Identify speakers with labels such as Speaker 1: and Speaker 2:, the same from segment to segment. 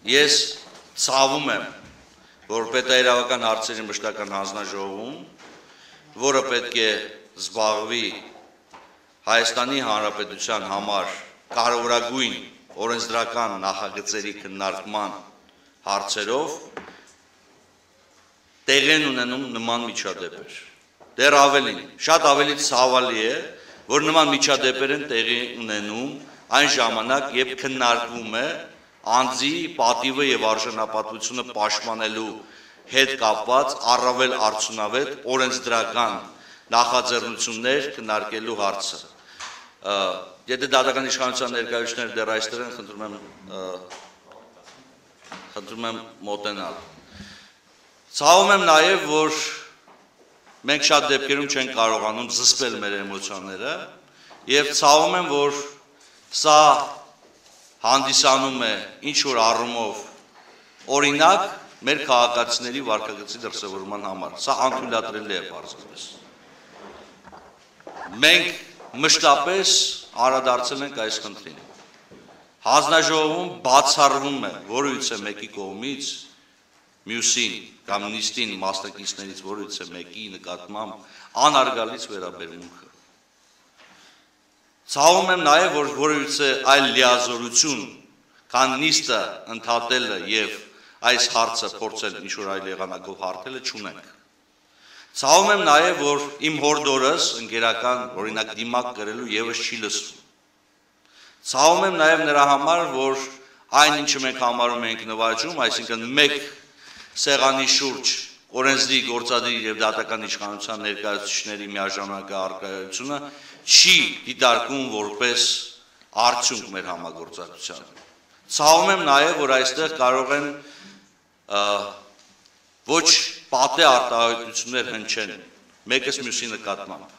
Speaker 1: Ես ցավում եմ, որ պետաիրավական հարցերի մշտական հանձնաժողովում, որը պետք է զբաղվի Հայաստանի Հանրապետության համար կարևորագույն օրենսդրական նախագծերի քննարկման հարցերով, տեղի են ունենում նման միջադեպեր։ Դեռ ավելին, շատ ավելի ցավալի է, որ նման միջադեպեր են տեղի ունենում այն ժամանակ, երբ քննարկվում է անձի պատիվը եւ արժանապատվությունը պաշտպանելու հետ կապված առավել արդյունավետ օրենսդրական նախաձեռնություններ քննարկելու հարցը։ Եթե դատական իշխանության ներկայացուցիչները դեռ այստեղ են, խնդրում եմ մոտենալ։ Ցավում եմ նաեւ, որ մենք շատ դեպքերում չենք կարողանում զսպել մեր էմոցիաները եւ ցավում եմ, որ սա հանդիսանում է ինչ-որ առումով օրինակ մեր քաղաքացիների վարքագծի դրսևորման համար։ Սա անթույլատրելի է պարզապես։ Մենք մշտապես անդրադարձել ենք այս խնդրին։ Հանձնաժողովում բացառվում է որևիցե մեկի կողմից մյուսին կամ նիստին մասնակիցներից որևիցե մեկի նկատմամբ անարգալից վերաբերմունքը։ Ցավում եմ նաև, որ որևիցե այլ լիազորություն, քան նիստը ընդհատելը եւ այս հարցը փորձել ինչ-որ այլ եղանակով հարթելը չունենք։ Ցավում եմ նաև, որ իմ հորդորս ընկերական օրինակ դիմակ կրելու եւս չի լսվում։ Ցավում եմ նաև նրա համար, որ այն ինչը մենք համարում ենք նվաճում, այսինքն մեկ սեղանի շուրջ օրենսդրի գործադիր եւ դատական իշխանության ներկայացուցիչների միաժամանակ առկայությունը չի դիտարկում որպես արդյունք մեր համագործակցության։ Ցավում եմ նաեւ, որ այստեղ կարող են ոչ պատե արտահայտություններ հնչեն մեկս մյուսի նկատմամբ։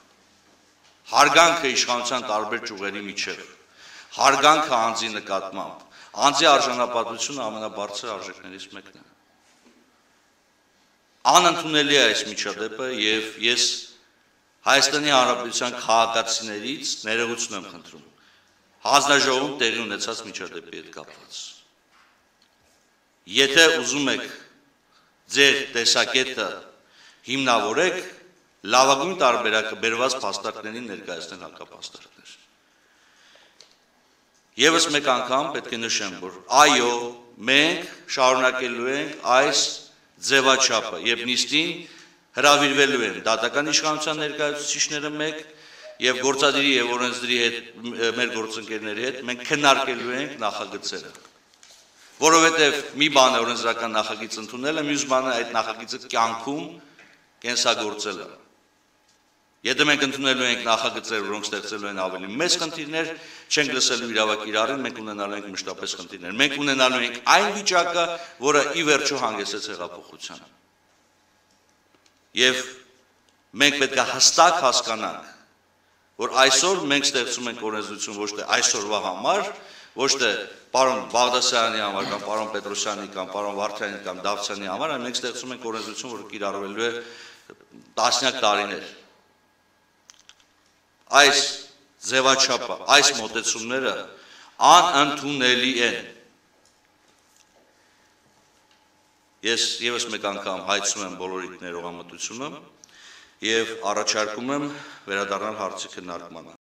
Speaker 1: Հարգանքը իշխանության տարբեր ճյուղերի միջև, հարգանքը անձի նկատմամբ, անձի արժանապատվությունը ամենաբարձր արժեքներից մեկն է։ Անընդունելի է այս միջադեպը եւ ես Հայաստանի Հանրապետության քաղաքացիներից ներողություն եմ խնդրում հանձնաժողովում տեղի ունեցած միջադեպի հետ կապված։ Եթե ուզում եք ձեր տեսակետը հիմնավորեք, լավագույն տարբերակը բերված փաստարկներին ներկայացնել հակափաստարկներ։ Եվս մեկ անգամ պետք է նշեմ, որ այո, մենք շարունակելու ենք այս ձևաչափը եւ նիստին հրավիրվելու են դատական իշխանության ներկայացուցիչները մեկ եւ գործադիրի եւ օրենսդրի հետ մեր գործընկերների հետ մենք քննարկելու ենք նախագծերը, որովհետեւ մի բան է օրենսդրական նախագիծ ընդունելը, մյուս բանը այդ նախագիծը կյանքում կենսագործելը։ Եթե մենք ընդունելու ենք նախագծեր, որոնք ստեղծելու են ավելի մեծ խնդիրներ, չենք լսելու իրավական իրարին, մենք ունենալու ենք մշտապես խնդիրներ։ Մենք ունենալու ենք այն վիճակը, որը ի վերջո հանգեցրեց հեղափոխությանը։ Եվ մենք պետք է հստակ հասկանանք, որ այսօր մենք ստեղծում ենք օրենսդրություն ոչ թե այսօրվա համար, ոչ թե պարոն Բաղդասարյանի համար կամ պարոն Պետրոսյանի կամ պարոն Վարդյանի կամ Դավթյանի համար, այլ մենք ստեղծում ենք օրենսդրություն, որը կիրառվելու է տասնյակ տարիներ։ Այս ձևաչափը, այս մոտեցումները անընդունելի են։ Ես եւս մեկ անգամ հայցում եմ բոլորիդ ներողամտությունը եւ առաջարկում եմ վերադառնալ հարցի քննարկմանը։